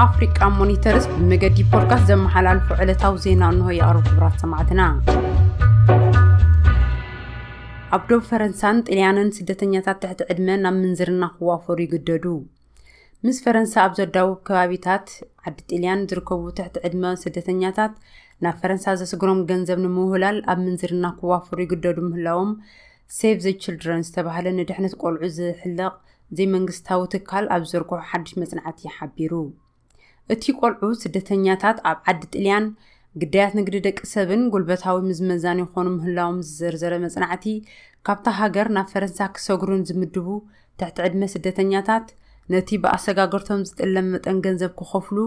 ኣፍሪቃ ሞኒተርስ ብመገዲ ፖድካስት ዘመሓላልፎ ዕለታዊ ዜና እንሆ ይቐርብ። ክቡራት ሰማዕትና፣ ኣብ ዶብ ፈረንሳን ጥልያንን ስደተኛታት ትሕቲ ዕድመ ናብ ምንዝርና ክዋፈሩ ይግደዱ። ምስ ፈረንሳ ኣብ ዘዳውብ ከባቢታት ዓዲ ጥልያን ዝርከቡ ትሕቲ ዕድመ ስደተኛታት ናብ ፈረንሳ ዘስግሮም ገንዘብ ንምውህላል ኣብ ምንዝርና ክዋፈሩ ይግደዱ ምህላዎም ሴቭ ዘ ችልድረን ዝተባህለ ንድሕነት ቆልዑ ዝሕለቕ ዘይመንግስታዊ ትካል ኣብ ዘርግሖ ሓድሽ መጽናዕቲ ሓቢሩ። እቲ ቆልዑ ስደተኛታት ኣብ ዓዲ ጥልያን ግዳያት ንግዲ ደቂ ሰብን ጉልበታዊ ምዝመዛን ይኾኑ ምህላዎም ዝዘርዘረ መጽናዕቲ፣ ካብታ ሃገር ናብ ፈረንሳ ክሰግሩን ዝምድቡ ትሕቲ ዕድመ ስደተኛታት ነቲ ብኣሰጋገርቶም ዝጥለም መጠን ገንዘብ ክኸፍሉ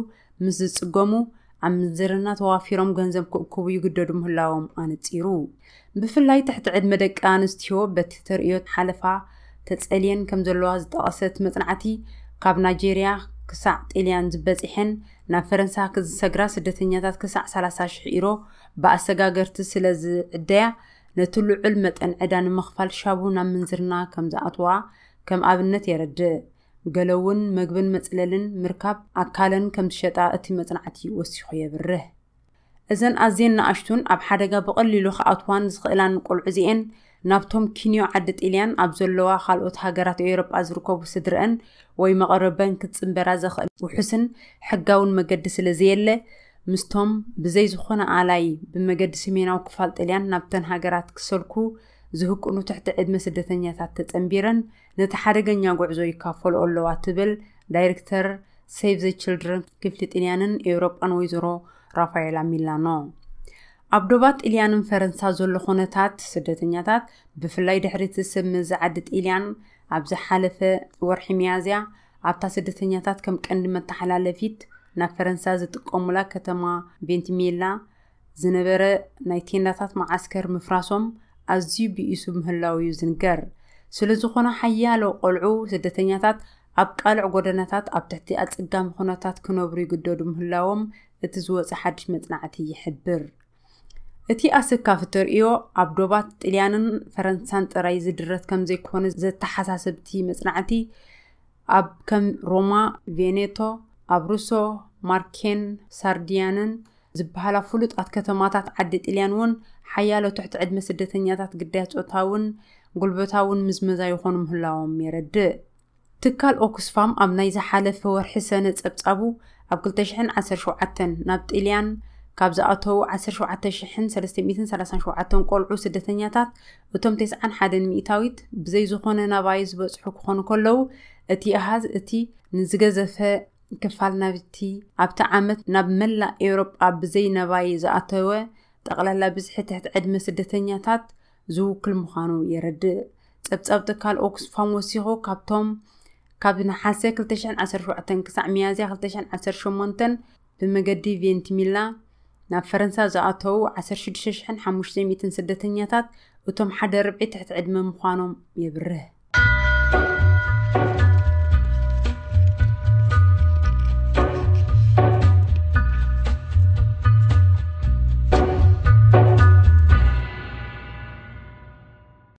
ምስ ዝጽገሙ፣ ኣብ ምንዝርና ተዋፊሮም ገንዘብ ክእክቡ ይግደዱ ምህላዎም ኣነጺሩ። ብፍላይ ትሕቲ ዕድመ ደቂ ኣንስትዮ በቲ ተርእዮ ሓለፋ ተጸልየን ከም ዘለዋ ዝጠቐሰት መጽናዕቲ፣ ካብ ናይጄርያ ክሳዕ ጥልያን ዝበጺሐን ናብ ፈረንሳ ክዝሰግራ ስደተኛታት ክሳዕ ሰላሳ ሽሕ ኢሮ ብኣሰጋገርቲ ስለ ዝዕደያ፣ ነቲ ልዑል መጠን ዕዳ ንምኽፋል ሻቡ ናብ ምንዝርና ከም ዝኣትዋ ከም ኣብነት የረድእ። ገለ እውን መግብን መጽለልን ምርካብ ኣካለን ከም ዝሸጣ እቲ መጽናዕቲ ወሲኹ የብርህ። እዘን ኣዝየን ንኣሽቱን ኣብ ሓደጋ ብቐሊሉ ክኣትዋን ዝኽእላን ቆልዑ እዚኤን፣ ናብቶም ኪንዮ ዓዲ ጥልያን ኣብ ዘለዋ ካልኦት ሃገራት ኤውሮጳ ዝርከቡ ስድረአን ወይ መቐረበን ክትጽንበራ ዘኽእል ውሑስን ሕጋውን መገዲ ስለ ዘየለ፣ ምስቶም ብዘይ ዝኾነ ኣላይ ብመገዲ ሰሜናዊ ክፋል ጥልያን ናብተን ሃገራት ክሰልኩ ዝህቅኑ ትሕቲ ዕድመ ስደተኛታት ተጸንቢረን ነቲ ሓደገኛ ጉዕዞ ይካፈልኦ ኣለዋ ትብል ዳይሬክተር ሴቭ ዘ ችልድረን ክፍሊ ጥልያንን ኤውሮጳን ወይዘሮ ራፋኤላ ሚላኖ። ኣብ ዶባት ጥልያንን ፈረንሳ ዘሎ ኩነታት ስደተኛታት፣ ብፍላይ ድሕሪ እቲ ሰብ መዚ ዓዲ ጥልያን ኣብ ዝሓለፈ ወርሒ ሚያዝያ ኣብታ ስደተኛታት ከም ቀንዲ መተሓላለፊት ናብ ፈረንሳ ዝጥቀሙላ ከተማ ቬንቲሜላ ዝነበረ ናይ ቴንዳታት መዓስከር ምፍራሶም ኣዝዩ ብኢሱ ምህላው እዩ ዝንገር። ስለ ዝኾነ ሓያሎ ቆልዑ ስደተኛታት ኣብ ቃልዕ ጎደናታት ኣብ ትሕቲ ኣጸጋሚ ኩነታት ክነብሩ ይግደዱ ምህላዎም እቲ ዝወጸ ሓድሽ መጽናዕቲ ይሕብር። እቲ ኣሰካፊ ተርእዮ ኣብ ዶባት ጥልያንን ፈረንሳን ጥራይ ዝድረት ከም ዘይኮነ ዘተሓሳስብ እቲ መጽናዕቲ፣ ኣብ ከም ሮማ፣ ቬኔቶ፣ ኣብሩሶ፣ ማርኬን ሳርዲያንን ዝበሃላ ፍሉጣት ከተማታት ዓዲ ጥልያን እውን ሓያሎ ትሕቲ ዕድመ ስደተኛታት ግዳያት ጾታውን ጉልበታውን ምዝመዛ ይኾኑ ምህላዎም የረድእ። ትካል ኦክስፋም ኣብ ናይ ዝሓለፈ ወርሒ ሰነ ጸብጻቡ፣ ኣብ ክልተ ሽሕን ዓሰርተ ሸውዓተን ናብ ጥልያን ካብ ዝኣተዉ ዓሰርተ ሸውዓተ ሽሕን ሰለስተ ሚእትን ሰላሳን ሸውዓተን ቆልዑ ስደተኛታት፣ እቶም ተስዓን ሓደን ሚእታዊት ብዘይ ዝኾነ ናባይ ዝበጽሑ ክኾኑ ከለዉ፣ እቲ ኣሃዝ እቲ ንዝገዘፈ ክፋል ናብቲ ኣብቲ ዓመት ናብ መላእ ኤውሮጳ ብዘይ ናባይ ዝኣተወ ጠቕላላ ብዝሒ ትሕቲ ዕድመ ስደተኛታት ዝውክል ምዃኑ የረድእ። ጸብጻብ ትካል ኦክስፋም ወሲኹ፣ ካብቶም ካብ ነሓሰ ክልተ ሽሕን ዓሰርተ ሸውዓተን ክሳዕ ሚያዝያ ክልተ ሽሕን ዓሰርተ ሸሞንተን ብመገዲ ቬንቲሚላ ናብ ፈረንሳ ዝኣተዉ ዓሰርተ ሽዱሽተ ሽሕን ሓሙሽተ ሚእትን ስደተኛታት፣ እቶም ሓደ ርብዒ ትሕቲ ዕድመ ምዃኖም የብርህ።